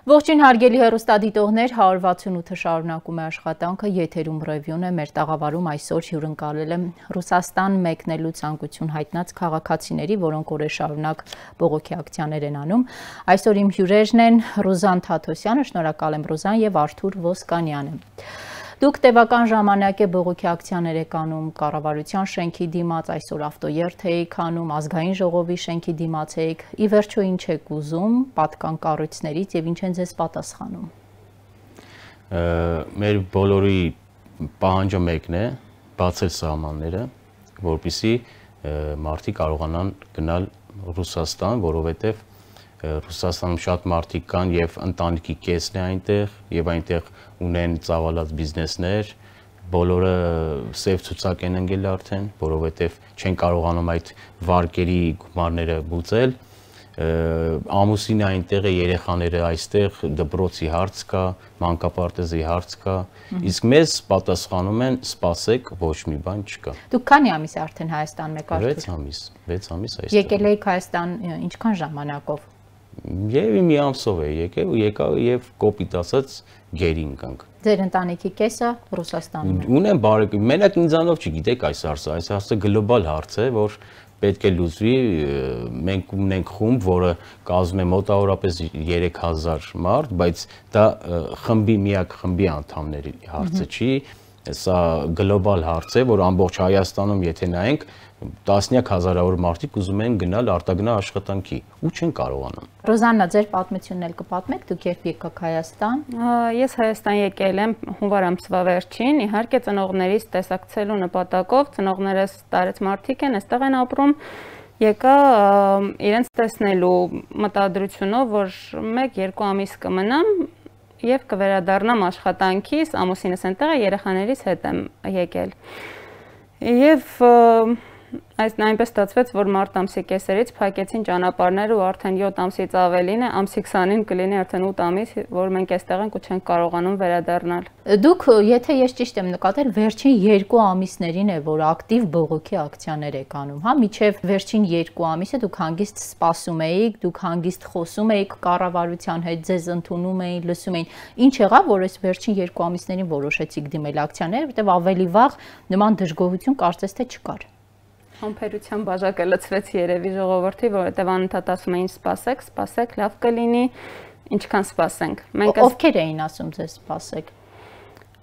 Ողջույն հարգելի հեռուստադիտողներ, 168-ը շարունակում է աշխատանքը, եթերում ռևյուն է, մեր տաղավարում այսօր հյուրընկալել է Ռուսաստան մեկնելու ցանկություն հայտնած քաղաքացիների, որոնք օրեր շարունակ բողոքի ակցիաներ են անում։ Այսօր իմ հյուրերն են Ռուզան Թաթոսյանը, շնորհակալ եմ Ռուզան, եւ Արթուր Ոսկանյանը։ Դուք տևական ժամանակ է բողոքի ակցիաներ եք անում կառավարության շենքի դիմաց, այսօր ավտոերթ եք անում, ազգային ժողովի շենքի դիմաց եք, ի վերջո ինչ եք ուզում պատկան կառույցներից եւ ինչ են ձեզ պատասխանում։ Մեր բոլորի պահանջը մեկն է, բացել սահմանները, որպեսզի մարդիկ կարողանան գնալ Ռուսաստան, որովհետեւ Ռուսաստանում շատ մարդիկ կան եւ ընտանիքի կեսն է այնտեղ եւ այնտեղ ունեն ծավալած բիզնեսներ, բոլորը սև ցուցակ են ընկել արդեն, որովհետեւ չեն կարողանում այդ վարկերի գումարները բուծել, ամուսինը այնտեղ է, երեխաները այստեղ, դպրոցի հարց կա, մանկապարտեզի հարց կա, իսկ մեզ պատասխանում են սպասեք, ոչ մի բան չկա։ Դուք քանի ամիս է արդեն Հայաստանում եք արդյոք։ 6 ամիս այստեղ։ Եկել եք Հայաստան ինչքան ժամանակով։ Եվ մի ամսով է եկել ու եկա եւ կոպիտ ասած գերի ընկանք։ Ձեր ընտանիքի կեսը Ռուսաստանում է։ Ունեմ բարեկամ, մենակ ինձանով չգիտեք այս հարցը գլոբալ հարց է, որ պետք է լուծվի, մենք ունենք խումբ, որը կազմում է մոտավորապես 3000 մարդ, բայց դա միակ խմբի անդամների հարցը չի, սա գլոբալ հարց է, որ ամբողջ Հայաստանում եթե նայենք տասնյակ հազարավոր մարդիկ ուզում են գնալ արտագնա աշխատանքի ու չեն կարողանում։ Ռոզաննա, ձեր պատմությունն էլ կպատմեք, դուք երբ եկաք Հայաստան։ Ես Հայաստան եկել եմ հունվար ամսվա վերջին, իհարկե ծնողներիս տեսակցելու նպատակով, ծնողներս տարեց մարդիկ են, այստեղ են ապրում, եկա իրենց տեսնելու մտադրությունով, որ 1-2 ամիս կմնամ եւ կվերադառնամ աշխատանքից, ամուսինս այնտեղ է, երեխաներիս հետ եմ եկել։ Եվ այնպես ստացվեց, որ մարտ ամսի կեսերից փակեցին ճանապարհները ու արդեն 7 ամսից ավելին է, ամսի 20-ին կլինի արդեն 8 ամիս, որ մենք այստեղ ենք ու չենք կարողանում վերադառնալ։ Դուք, եթե ես ճիշտ եմ նկատել, վերջին 2 ամիսներին է, որ ակտիվ բողոքի ակցիաներ եք անում, հա, մինչև վերջին 2 ամիսը դուք հանգիստ սպասում էիք, դուք հանգիստ խոսում էիք կառավարության հետ, ձեզ ընդունում էին, լսում էին։ Ինչ եղավ, որ այս վերջին 2 ամիսներին որոշեցիք դիմել ակցիաներ, որտեղ ավելի վաղ նման դժգոհություն կարծես թե չկար։ Համբերության բաժակը լցվեց երևի ժողովրդի, որովհետև անընդհատ ասում էին սպասեք, սպասեք, լավ կլինի, ինչքան սպասենք։ Ովքեր էին ասում ձեզ սպասեք։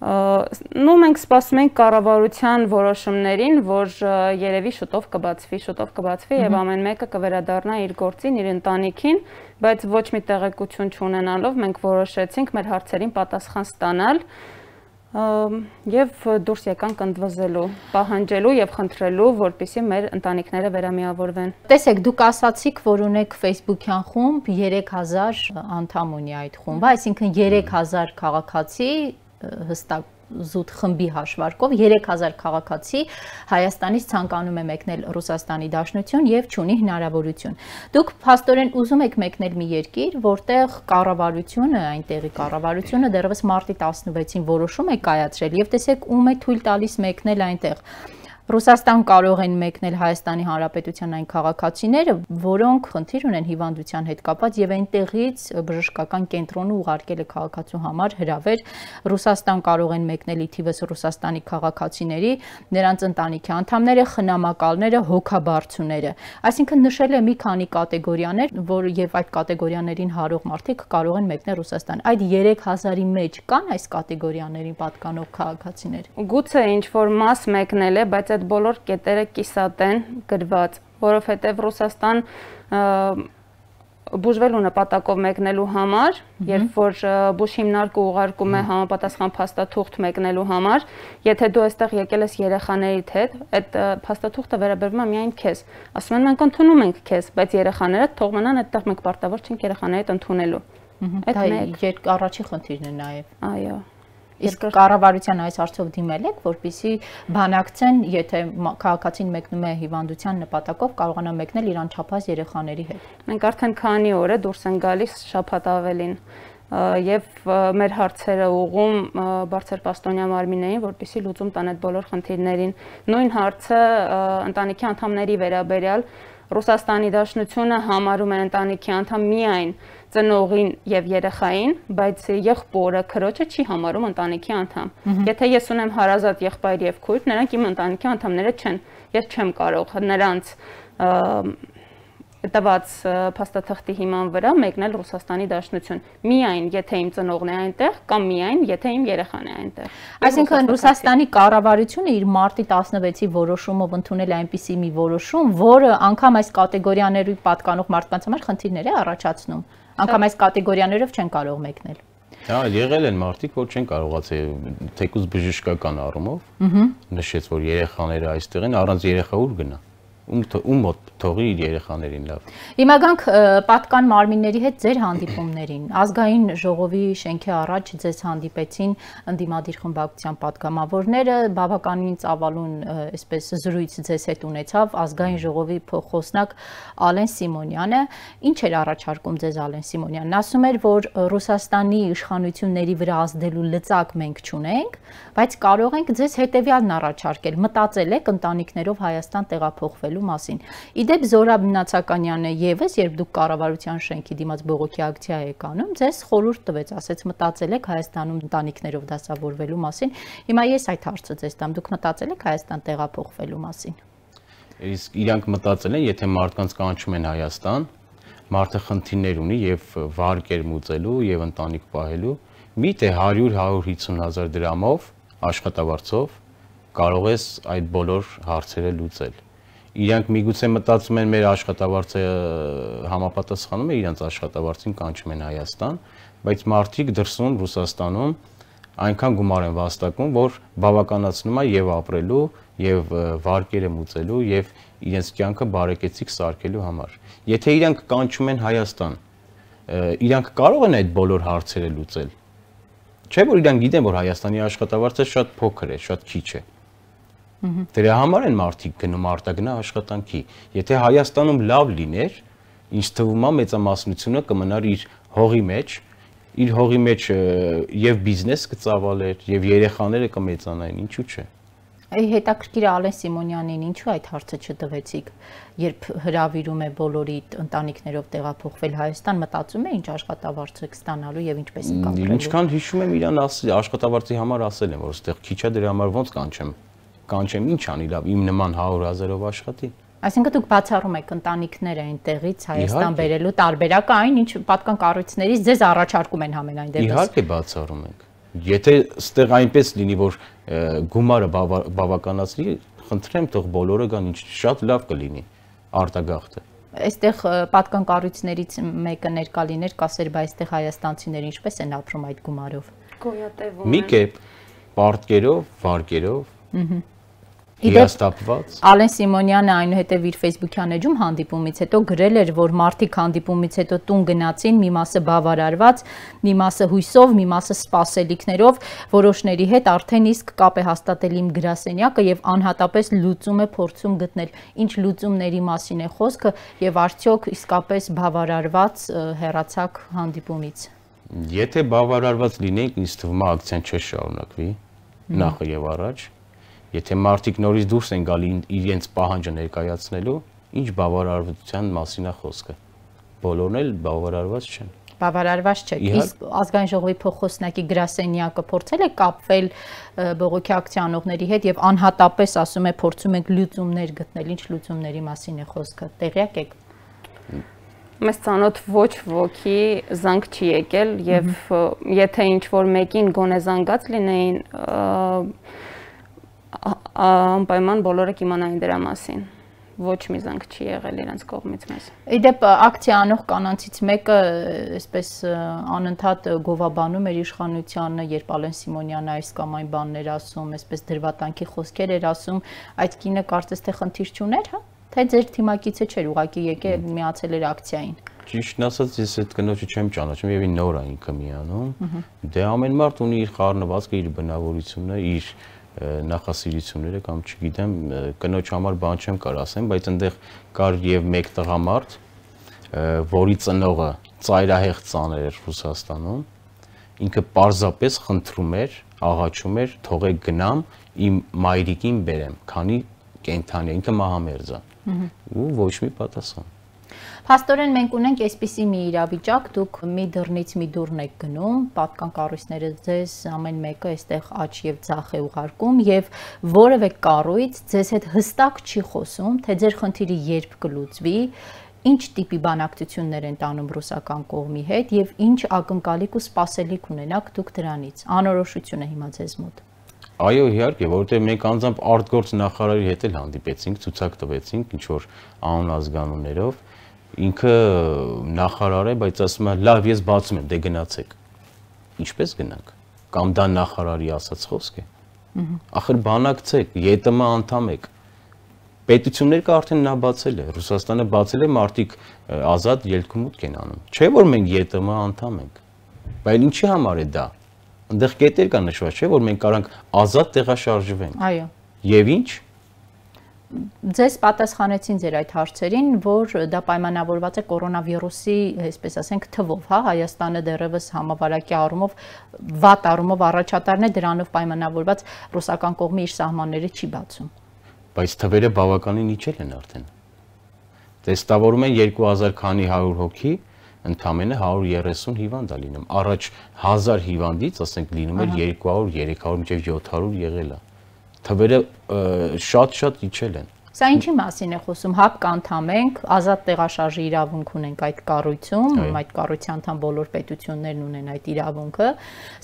Մենք սպասում ենք կառավարության որոշումներին, որ երևի շուտով կբացվի եւ ամեն մեկը կվերադառնա իր գործին, իր ընտանիքին, բայց ոչ մի տեղեկություն չունենալով մենք որոշեցինք մեր հարցերին պատասխան ստանալ եւ դուրս եկանք ընդվզելու, պահանջելու եւ խնդրելու, որպեսզի մեր ընտանիքները վերամիավորվեն։ Տեսեք, դուք ասացիք, որ ունեք Facebook-յան խումբ, 3000 անդամ ունի այդ խումբը, այսինքն 3000 քաղաքացի հստակ զուտ խմբի հաշվարկով 3000 քաղաքացի Հայաստանից ցանկանում է մեկնել Ռուսաստանի Դաշնություն եւ չունի հնարավորություն։ Դուք փաստորեն ուզում եք մեկնել մի երկիր, որտեղ կառավարությունը, այնտեղի կառավարությունը դեռևս մարտի 16-ին որոշում է կայացրել եւ տեսեք ում է թույլ տալիս մեկնել այնտեղ։ Ռուսաստան կարող են մեկնել Հայաստանի Հանրապետության այն քաղաքացիները, որոնք խնդիր ունեն հիվանդության հետ կապված եւ այնտեղից բժշկական կենտրոնը ուղարկել է քաղաքացու համար հրավեր։ Ռուսաստան կարող են մեկնել ի թիվս Ռուսաստանի քաղաքացիների, նրանց ընտանիքի անդամները, խնամակալները, հոգաբարձուները։ Այսինքն նշել է մի քանի կատեգորիաներ, որ եւ այդ կատեգորիաներին հարող մարդիկ կարող են մեկնել Ռուսաստան։ Այդ 3000-ի մեջ կան այս կատեգորիաներին պատկանող քաղաքացիներ։ Գուցե ինչ որ մաս մեկնել է, բայց այդ բոլոր կետերը կիսատ են գրված, որովհետև Ռուսաստան բուժվելու նպատակով մեկնելու համար, երբ որ բուժ հիմնարկը ուղարկում է համապատասխան փաստաթուղթ մեկնելու համար, եթե դու այստեղ եկել ես երեխաներիդ հետ, այդ փաստաթուղթը վերաբերվում է միայն քեզ։ Ասում են մենք ընդունում ենք քեզ, բայց երեխաները թող մնան այդտեղ, մենք պարտավոր չենք երեխաներիդ ընդունելու։ Այդ առաջին խնդիրն է նաև։ Այո։ Իսկ կառավարության այս հարցով դիմել եք, որպեսզի բանակցեն, եթե քաղաքացին մեկնում է հիվանդության նպատակով, կարողանա մեկնել իր անչափահաս երեխաների հետ։ Մենք արդեն քանի օր է դուրս են գալիս շաբաթ ավելին եւ մեր հարցերը ուղղում բարձրպաստոնյա մարմիններին, որպեսզի լուծում տան այդ բոլոր խնդիրներին։ Նույն հարցը ընտանիքի անդամների վերաբերյալ Ռուսաստանի Դաշնությունը համարում է ընտանիքի անդամ միայն ծնողին եւ երեխային, բայց եղբորը, քրոջը չի համարում ընտանիքի անդամ։ Եթե ես ունեմ հարազատ եղբայր եւ քույր, նրանք իմ ընտանիքի անդամները չեն։ Ես չեմ կարող նրանց տված փաստաթղթի հիման վրա մեկնել Ռուսաստանի Դաշնություն։ Միայն եթե իմ ծնողն է այնտեղ կամ միայն եթե իմ երեխան է այնտեղ։ Այսինքն Ռուսաստանի կառավարությունը իր մարտի 16-ի որոշումով ընդունել է այնպիսի մի որոշում, որը անգամ այս կատեգորիաների պատկանող մարդկանց համար խնդիրներ է առաջացնում։ Անգամ այս կատեգորիաներով չեն կարող մեկնել։ Հա, եղել են մարդիկ, որ չեն կարողացել թեկուզ բժշկական առումով նշեց, որ երեխաները այստեղ են, առանց երեխա ուր գնա։ Ում մոտ թողի իր երեխաներին լավ։ Հիմա գանք պատկան մարմինների հետ ձեր հանդիպումներին։ Ազգային ժողովի շենքի առաջ ձեզ հանդիպեցին ընդդիմադիր խմբակցության պատգամավորները, բավականին ծավալուն այսպես զրույց ձեզ հետ ունեցավ ազգային ժողովի փոխոսնակ Ալեն Սիմոնյանը։ Ինչ էր առաջարկում ձեզ Ալեն Սիմոնյանն։ Ասում էր, որ Ռուսաստանի իշխանությունների վրա ազդելու լծակ մենք չունենք, բայց կարող ենք ձեզ հետևյալն առաջարկել. մտածել եք ընտանիքներով Հայաստան տեղափոխվելու մասին։ Իդեպ Զորաբ Նացականյանը եւս, երբ դուք կառավարության շենքի դիմաց բողոքի ակցիա եք անում, ձեզ խորհուրդ տվեց, ասեց մտածել եք Հայաստանում ընտանիքներով դասավորվելու մասին։ Հիմա ես այդ հարցը ձեզ տամ, դուք մտածել եք Հայաստան տեղափոխվելու մասին։ Իսկ իրանք մտածել են, եթե մարդկանց կանչում են Հայաստան, մարդը խնդիրներ ունի եւ վարկեր մուծելու եւ ընտանիք պահելու, միթե 100-150 հազար դրամով աշխատավարձով կարող ես այդ բոլոր հարցերը լուծել։ Իրանք միգուցե մտածում են մեր աշխատավարձը համապատասխանում է իրանց աշխատավարձին կանչում են Հայաստան, բայց մարդիկ դրսում Ռուսաստանում այնքան գումար են վաստակում, որ բավականացնում է եւ ապրելու, եւ վարկերը մուծելու, եւ իրենց կյանքը բարեկեցիկ սարքելու համար։ Եթե իրանք կանչում են Հայաստան, իրանք կարող են այդ բոլոր հարցերը լուծել։ Չէ՞ որ իրանք գիտեն, որ Հայաստանի աշխատավարձը շատ փոքր է, շատ քիչ է։ Դրա համար են մարդիկ գնում արտագնա աշխատանքի։ Եթե Հայաստանում լավ լիներ, ինչ թվում է մեծամասնությունը կմնար իր հողի մեջ եւ բիզնես կծավալեր եւ երեխաները կմեծանային, ինչու՞ չէ։ Հետաքրքիր է Ալեն Սիմոնյանին, ինչու այդ հարցը չտվեցիք, երբ հրավիրում է բոլորի ընտանիքներով տեղափոխվել Հայաստան, մտածում է ինչ աշխատավարձ եք ստանալու եւ ինչպես եք ապրելու։ Ինչքան հիշում եմ իրան աշխատավարձի համար ասել են, որ այստեղ քիչ է, դրա համար ոնց կանչեմ, ինչ անի լավ, իմ նման 100,000-ով աշխատի։ Այսինքն դուք բացառում եք ընտանիքները այնտեղից Հայաստան բերելու տարբերակը այն, ինչ պատկան կառույցներից ձեզ առաջարկում են համենայն դեպս։ Իհարկե բացառում ենք։ Եթե ստեղ այնպես լինի, որ գումարը բավականացնի, խնդրեմ, թող բոլորը գան, ինչ շատ լավ կլինի արտագաղթը։ Այստեղ պատկան կառույցներից մեկը ներկա լիներ, կասեր, բայց այստեղ հայաստանցիները ինչպես են ապրում այդ գումարով։ Գոյատևում են։ Մի կերպ պարտկերով, վարկերով հիաստապված։ Ալեն Սիմոնյանը այնուհետև իր Facebook-յան էջում հանդիպումից հետո գրել էր, որ մարդիկ հանդիպումից հետո տուն գնացին, մի մասը բավարարված, մի մասը հույսով, մի մասը սպասելիքներով, որոշների հետ արդեն իսկ կապ է հաստատել իմ գրասենյակը եւ անհատապես լուծում է փորձում գտնել։ Ինչ լուծումների մասին է խոսքը եւ արդյոք իսկապես բավարարված հեռացակ հանդիպումից։ Եթե բավարարված լինենք, ինձ թվում է ակցիան չշարունակվի նախ եւ առաջ։ Եթե մարդիկ նորից դուրս են գալի իրենց պահանջը ներկայացնելու, ինչ բավարարվածության մասին է խոսքը։ Բոլորն էլ բավարարված չեն։ Բավարարված չէ։ Իսկ ազգային ժողովի փոխոսնակի գրասենյակը փորձել է կապվել բողոքի ակցիանողների հետ եւ անհատապես ասում է փորձում ենք լուծումներ գտնել, ինչ լուծումների մասին է խոսքը։ Տեղյակ եք։ Մեզ ծանոթ ոչ ոքի զանգ չի եկել եւ եթե ինչ որ մեկին գոնե զանգած լինեին, անպայման բոլորը կիմանային դրա մասին։ Ոչ մի զանգ չի եղել իրենց կողմից մեզ։ Իդեպ ակցիա անող կանանցից մեկը այսպես անընդհատ գովաբանում էր իշխանությանը, երբ Ալեն Սիմոնյանը այս կամ այն բաններ ասում, այսպես դրվատանքի խոսքեր էր ասում, այդ կինը կարծես թե խնդիր չուներ, հա? Թե ձեր թիմակիցը չէր, ուղղակի եկել միացել էր ակցիային։ Ճիշտն ասած, ես այդ կնոջը չեմ ճանաչում եւ նոր է ինքը միանում։ Դե ամեն մարդ ունի իր խառնվածքը, իր բնավորությունը, իր նախասիրությունները կամ չգիտեմ, կնոջ համար բան չեմ կարող ասեմ, բայց այնտեղ կար եւ մեկ տղամարդ, որի ծնողը ծայրահեղ ծաներ էր Ռուսաստանում, ինքը պարզապես խնդրում էր, աղաչում էր, թողեք գնամ, իմ մայրիկին բերեմ, քանի կենթանի, ինքը մահամերձ է։ Ու ոչ մի պատասխան։ Փաստորեն մենք ունենք այսպիսի մի իրավիճակ, դուք մի դռնից մի դուռն եք գնում, պատկան կառույցները ձեզ ամեն մեկը այստեղ աճ եւ ձախ է ուղարկում եւ որևէ կառույց ձեզ հետ հստակ չի խոսում, թե ձեր խնդիրը երբ կլուծվի, ինչ տիպի բանակցություններ են տանում ռուսական կողմի հետ եւ ինչ ակնկալիք ու սպասելիք ունենաք դուք դրանից։ Անորոշություն է հիմա ձեզ մոտ։ Այո, իհարկե, որովհետև մենք անձամբ արտգործ նախարարի հետ էլ հանդիպեցինք, ցուցակ տվեցինք ինչ որ անուն ազգանուններով, ինքը նախարար է, բայց ասում է, լավ, ես բացում եմ, դե գնացեք։ Ինչպես գնանք։ Կամ դա նախարարի ասած խոսք է։ Ախր բանակցեք, ԵՏՄ անդամ եք։ Պետություններ կա արդեն նա բացել է, Ռուսաստանը բացել է, մարդիկ ազատ ելք-մուտք են անում։ Չէ՞ որ մենք ԵՏՄ անդամ ենք։ Բայց ինչի համար է դա։ Այնտեղ կետեր կա նշված, չէ՞ որ մենք կարանք ազատ տեղաշարժվենք։ Այո։ Եվ ինչ։ Ձեզ պատասխանեցին ձեր այդ հարցերին, որ դա պայմանավորված է կորոնավիրուսի, այսպես ասենք, թվով, հա, Հայաստանը դեռևս համավարակի առումով, վատ առումով առաջատարն է, դրանով պայմանավորված ռուսական կողմը իր սահմանները չի բացում։ Բայց թվերը բավականին իջել են արդեն։ Տեստավորում են 2000 քանի 100 հոգի, ընդամենը 130 հիվանդ է լինում։ Առաջ 1000 հիվանդից, ասենք, լինում էր 200, 300, մինչև 700 եղել է։ Թվերը շատ իջել են։ Սա ինչի մասին է խոսում, ՀԱՊԿ անդամ ենք, ազատ տեղաշարժի իրավունք ունենք այդ կառույցում, այդ կառույցի անդամ բոլոր պետություններն ունեն այդ իրավունքը։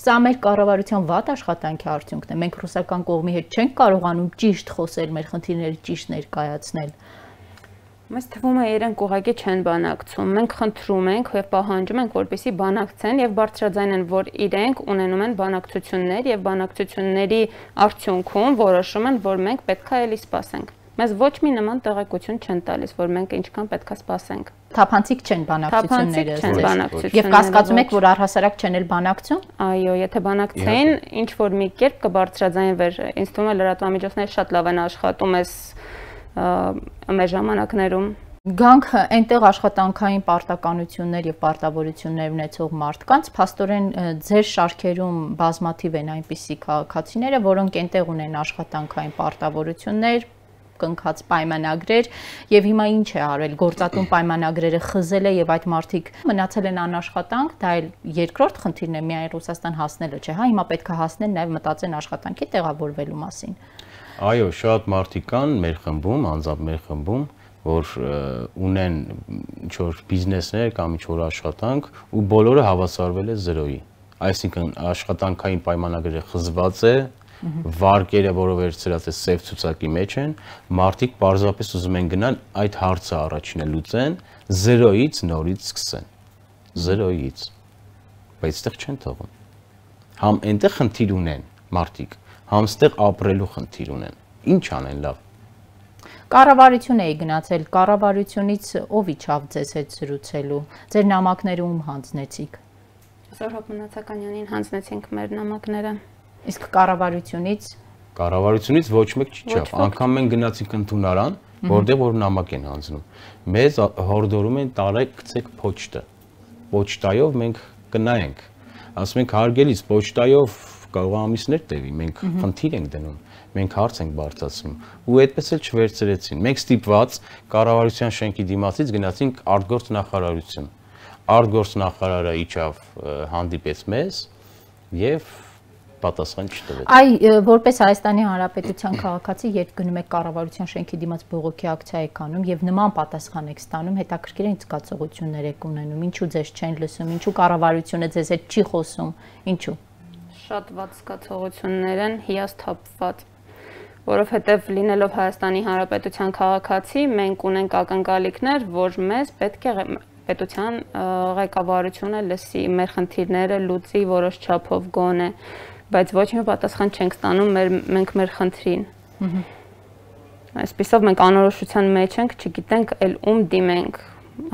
Սա մեր կառավարության վատ աշխատանքի արդյունքն է։ Մենք ռուսական կողմի հետ չենք կարողանում ճիշտ խոսել, մեր խնդիրները ճիշտ ներկայացնել։ Մեզ թվում է իրենք ուղղակի չեն բանակցում։ Մենք խնդրում ենք եւ պահանջում ենք, որպեսզի բանակցեն եւ բարձրաձայնեն, որ իրենք ունենում են բանակցություններ եւ բանակցությունների արդյունքում որոշում են, որ մենք պետքա էլի սպասենք։ Մեզ ոչ մի նման տեղեկություն չեն տալիս, որ մենք ինչքան պետքա սպասենք։ Թափանցիկ չեն բանակցությունները։ Թափանցիկ չեն բանակցությունները։ Եւ կասկածում եք, որ առհասարակ չեն էլ բանակցում։ Այո, եթե բանակցեին, ինչ որ մի կերպ կբարձրաձայնվեր։ Ինձ թվում է լրատվամիջոցները շատ լավ են աշխատում այս մեր ժամանակներում։ Գանք այնտեղ աշխատանքային պարտականություններ եւ պարտավորություններ ունեցող մարդկանց, փաստորեն ձեր շարքերում բազմաթիվ են այնպիսի քաղաքացիները, որոնք այնտեղ ունեն աշխատանքային պարտավորություններ, կնքած պայմանագրեր եւ հիմա ինչ է արվել, գործատուն պայմանագրերը խզել է եւ այդ մարդիկ մնացել են անաշխատանք, դա էլ երկրորդ խնդիրն է միայն Ռուսաստան հասնելը, չէ՞, հա, հիմա պետք է հասնեն նաեւ մտածեն աշխատանքի տեղավորվելու մասին։ Այո, շատ մարդիկ կան մեր խմբում, անձամբ մեր խմբում, որ ունեն ինչ-որ բիզնեսներ կամ ինչ-որ աշխատանք ու բոլորը հավասարվել է 0-ի։ Այսինքն աշխատանքային պայմանագրերը խզված է, վարկերը, որով վերցրած է սև ցուցակի մեջ են, մարդիկ պարզապես ուզում են գնալ այդ հարցը առաջինը լուծեն, 0-ից նորից սկսեն։ 0-ից։ Բայց այդտեղ չեն թողում։ Համ այնտեղ խնդիր ունեն մարդիկ, համ ստեղ ապրելու խնդիր ունեն։ Ինչ անեն լավ։ Կառավարություն էի գնացել, կառավարությունից ով իջավ ձեզ հետ զրուցելու, ձեր նամակները ում հանձնեցիք։ Զորհոտ Մնացականյանին հանձնեցինք մեր նամակները։ Իսկ կառավարությունից ոչ մեկ չիջավ, անգամ մենք գնացինք ընդունարան, որտեղ որ նամակ են հանձնում։ Մեզ հորդորում են տարեք գցեք փոչտը։ Փոչտայով մենք կնայենք։ Ասում ենք հարգելից փոչտայով կարող է ամիսներ տևի, մենք խնդիր ենք դնում, մենք հարց ենք բարձրացնում ու այդպես էլ չվերցրեցին։ Մենք ստիպված կառավարության շենքի դիմացից գնացինք արտգործ նախարարություն։ Արտգործ նախարարը իջավ, հանդիպեց մեզ եւ պատասխան չտվեց։ Որպես Հայաստանի Հանրապետության քաղաքացի, երբ գնում եք կառավարության շենքի դիմաց բողոքի ակցիա եք անում եւ նման պատասխան եք ստանում, հետաքրքիր է ինչ զգացողություններ եք ունենում, ինչու ձեզ չեն լսում, ինչու կառավարությունը ձեզ հետ չի խոսում, ինչու։ Շատ վատ զգացողություններ են, հիասթափված, որովհետև լինելով Հայաստանի Հանրապետության քաղաքացի, մենք ունենք ակնկալիքներ, որ մեզ պետք է պետության ղեկավարությունը լսի, մեր խնդիրները լուծի որոշ չափով գոնե, բայց ոչ մի պատասխան չենք ստանում մենք մեր խնդրին։ Այսպիսով մենք անորոշության մեջ ենք, չգիտենք էլ ում դիմենք։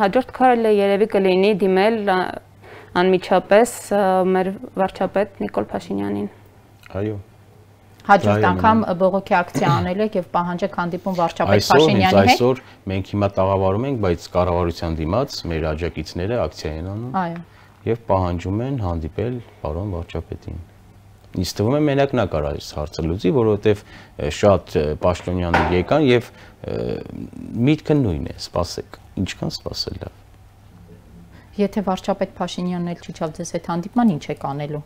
Հաջորդ քայլը երևի կլինի դիմել անմիջապես մեր վարչապետ Նիկոլ Փաշինյանին։ Այո։ Հաջորդ անգամ բողոքի ակցիա անել եք եւ պահանջեք հանդիպում վարչապետ Փաշինյանի հետ։ Այսօր մենք հիմա տաղավարում ենք, բայց կառավարության դիմաց մեր աջակիցները ակցիա են անում։ Այո։ Եվ պահանջում են հանդիպել պարոն վարչապետին։ Ինձ թվում է մենակ նա կարող է այս հարցը լուծի, որովհետև շատ պաշտոնյաներ եկան եւ միտքը նույնն է, սպասեք, ինչքան սպասել լավ։ Եթե վարչապետ Փաշինյանն էլ չիջավ ձեզ հետ հանդիպման, ինչ եք անելու։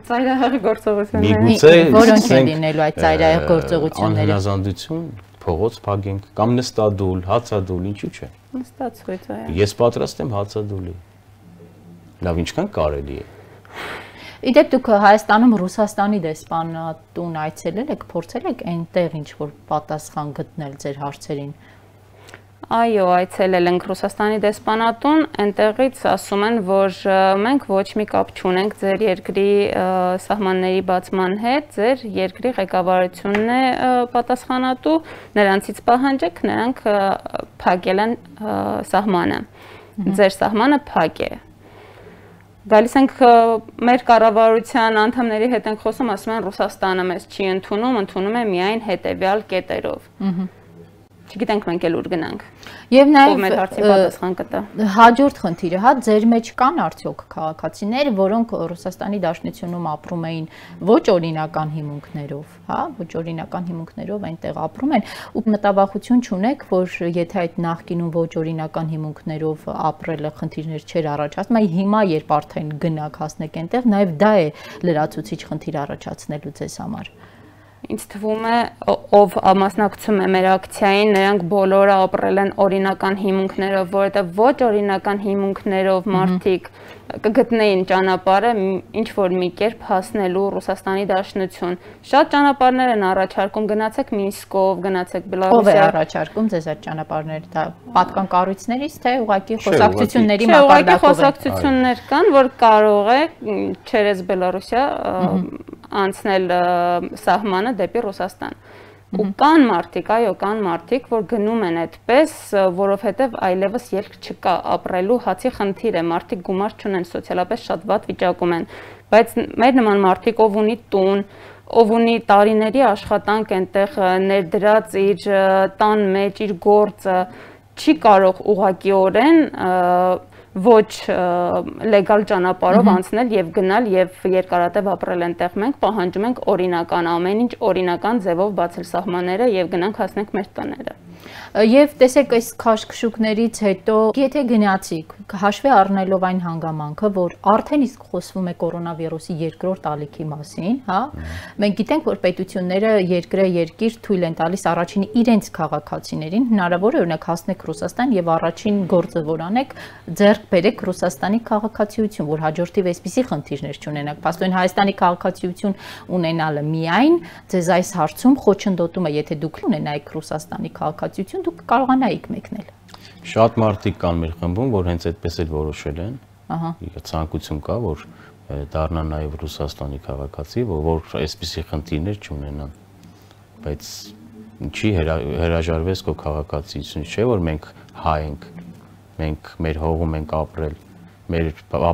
Ծայրահեղ գործողությունները։ Միգուցե որոնք են լինելու այդ ծայրահեղ գործողությունները։ Անհնազանդություն, փողոց փագենք կամ նստադուլ, հացադուլ, ինչու՞ չէ։ Նստածույց, այո։ Ես պատրաստ եմ հացադուլի։ Լավ, ինչքան կարելի է։ Իդեպ դուք Հայաստանում Ռուսաստանի դեսպանատուն այցելել եք, փորձել եք այնտեղ ինչ որ պատասխան գտնել ձեր հարցերին։ Այո, այցելել ենք Ռուսաստանի դեսպանատուն, այնտեղից ասում են, որ մենք ոչ մի կապ չունենք ձեր երկրի սահմանների բացման հետ, ձեր երկրի ղեկավարությունն է պատասխանատու, նրանցից պահանջեք, նրանք փակել են սահմանը։ Ձեր սահմանը փակ է։ Գալիս ենք մեր կառավարության անդամների հետ ենք խոսում, ասում են Ռուսաստանը մեզ չի ընդունում է միայն հետևյալ կետերով։ Չգիտենք մենք էլ ուր գնանք։ Եվ Ով մեր հարցին պատասխան կտա։ Հաջորդ խնդիրը, հա, ձեր մեջ կան արդյոք քաղաքացիներ, որոնք Ռուսաստանի Դաշնությունում ապրում էին ոչ օրինական հիմունքներով, հա, ոչ օրինական հիմունքներով այնտեղ ապրում են, ու մտավախություն չունեք, որ եթե այդ նախկինում ոչ օրինական հիմունքներով ապրելը խնդիրներ չէր առաջացնում, այ հիմա երբ արդեն գնաք հասնեք այնտեղ, նաև դա է լրացուցիչ խնդիր առաջացնելու ձեզ համար։ Ինձ թվում է, ով մասնակցում է մեր ակցիային, նրանք բոլորը ապրել են օրինական հիմունքներով, որովհետև ոչ օրինական հիմունքներով մարդիկ կգտնեին ճանապարհը ինչ որ մի կերպ հասնելու Ռուսաստանի Դաշնություն։ Շատ ճանապարհներ են առաջարկում, գնացեք Մինսկով, գնացեք Բելարուսիա։ Ով է առաջարկում ձեզ այդ ճանապարհները, դա պատկան կառույցներից, թե ուղղակի խոսակցությունների մակարդակով են։ Խոսակցություններ կան, որ կարող է չերես Բելարուսիա անցնել սահմանը դեպի Ռուսաստան։ Ու կան մարդիկ, այո, կան մարդիկ, որ գնում են այդպես, որովհետև այլևս ելք չկա ապրելու, հացի խնդիր է, մարդիկ գումար չունեն, սոցիալապես շատ վատ վիճակում են, բայց մեր նման մարդիկ, ով ունի տուն, ով ունի տարիների աշխատանք այնտեղ ներդրած իր տան մեջ, իր գործը, չի կարող ուղղակիորեն ոչ լեգալ ճանապարհով անցնել եւ գնալ եւ երկարատև ապրել այնտեղ։ Մենք պահանջում ենք օրինական, ամեն ինչ օրինական ձևով բացել սահմանները եւ գնանք հասնենք մեր տները։ Եվ տեսեք այս քաշքշուկներից հետո, եթե գնացիք, հաշվի առնելով այն հանգամանքը, որ արդեն իսկ խոսվում է կորոնավիրուսի երկրորդ ալիքի մասին, հա, մենք գիտենք, որ պետությունները երկիր թույլ են տալիս առաջին իրենց քաղաքացիներին, հնարավոր է օրինակ հասնեք Ռուսաստան եւ առաջին գործը որ անեք, ձեռք բերեք Ռուսաստանի քաղաքացիություն, որ հաջորդիվ այսպիսի խնդիրներ չունենաք։ Փաստորեն Հայաստանի քաղաքացիություն ունենալը միայն ձեզ այս հարցում խոչընդոտում է, եթե դուք ունենայիք Ռուսաստանի քաղաքացիություն, դուք կարողանայիք մեկնել։ Շատ մարդիկ կան մեր խմբում, որ հենց այդպես էլ որոշել են։ Ահա։ Ցանկություն կա, որ դառնան նաև Ռուսաստանի քաղաքացի, որ այսպիսի խնդիրներ չունենան։ Բայց ինչի հրաժարվես քո քաղաքացիությունից, չէ՞ որ մենք հայ ենք, մենք մեր հողում ենք ապրել, մեր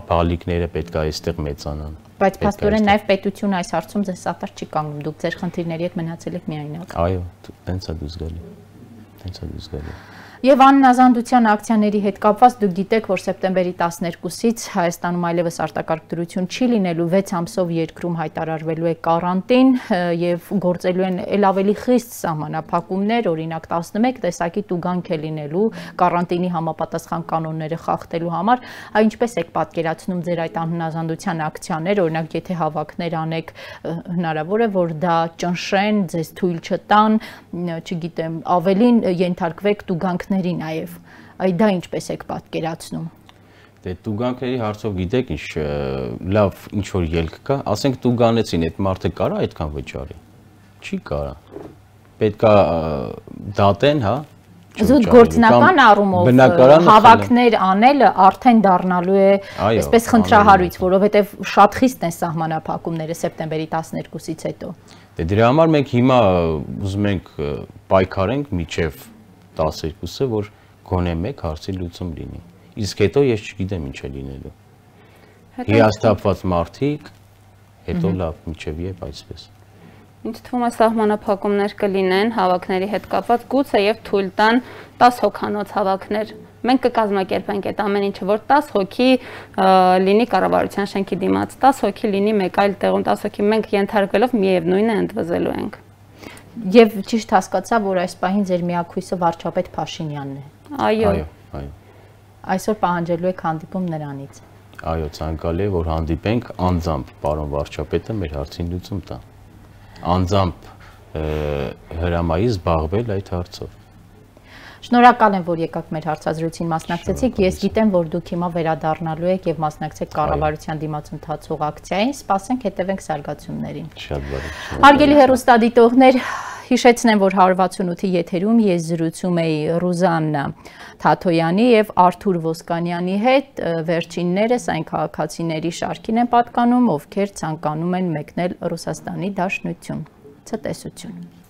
բալիկները պետք է այստեղ մեծանան։ Բայց փաստորեն նաև պետությունը այս հարցում ձեզ սատար չի կանգնում, դուք ձեր խնդիրների հետ մնացել եք միայնակ։ Այո, տենց է դուս գալի։ Տենց է դուս գալի։ Եվ աննազանդության ակցիաների հետ կապված դուք գիտեք, որ սեպտեմբերի 12-ից Հայաստանում այլևս արտակարգ դրություն չի լինելու, 6 ամսով երկրում հայտարարվելու է կարանտին եւ գործելու են ել ավելի խիստ սահմանափակումներ, օրինակ 11 տեսակի տուգանք է լինելու կարանտինի համապատասխան կանոնները խախտելու համար։ Այ ինչպես եք պատկերացնում ձեր այդ աննազանդության ակցիաները, օրինակ եթե հավաքներ անեք, հնարավոր է որ դա ճնշեն, ձեզ թույլ չտան, չգիտեմ, ավելին ենթարկվեք տուգանքների նաև, այ դա ինչպես եք պատկերացնում։ Դե տուգանքների հարցով գիտեք ինչ լավ ինչ որ ելք կա, ասենք տուգանեցին, այդ մարդը կարա այդքան վճարի։ Չի կարա։ Պետքա դատեն, հա։ Զուտ գործնական առումով հավաքներ անելը արդեն դառնալու է այսպես խնդրահարույց, որովհետև շատ խիստ են սահմանափակումները սեպտեմբերի 12-ից հետո։ Դե դրա համար մենք հիմա ուզում ենք պայքարենք միջև 12-ը, որ գոնե մեկ հարցի լուծում լինի։ Իսկ հետո ես չգիտեմ ինչ է լինելու։ Հիասթափված մարդիկ, հետո լավ, միջև եւ այսպես։ Ինձ թվում է սահմանափակումներ կլինեն հավաքների հետ կապված, գուցե եւ թույլ տան 10 հոգանոց հավաքներ։ մենք կկազմակերպենք այդ ամեն ինչը, որ 10 հոգի լինի կառավարության շենքի դիմաց, 10 հոգի լինի մեկ այլ տեղում, 10 հոգի, մենք ենթարկվելով միևնույնը ընդվզելու ենք։ Եվ ճիշտ հասկացա, որ այս պահին ձեր միակույսը վարչապետ Փաշինյանն է։ Այո։ Այսօր պահանջելու եք հանդիպում նրանից։ Այո, ցանկալի է, որ հանդիպենք անձամբ պարոն վարչապետը մեր հարցին լուծում տա։ Անձամբ հրամայի զբաղվել այդ հարցով։ Շնորհակալ եմ, որ եկաք մեր հարցազրույցին մասնակցեցիք։ Ես գիտեմ, որ դուք հիմա վերադառնալու եք եւ մասնակցեք կառավարության դիմաց ընթացող ակցիային։ Սպասենք, հետևենք զարգացումներին։ Շատ բարի։ Հարգելի հեռուստադիտողներ, հիշեցնեմ, որ 168-ի եթերում ես զրուցում էի Ռուզաննա Թաթոյանի եւ Արթուր Ոսկանյանի հետ։ Վերջիններս այն քաղաքացիների շարքին են պատկանում, ովքեր ցանկանում են մեկնել Ռուսաստանի Դաշնություն։ Ցտեսություն։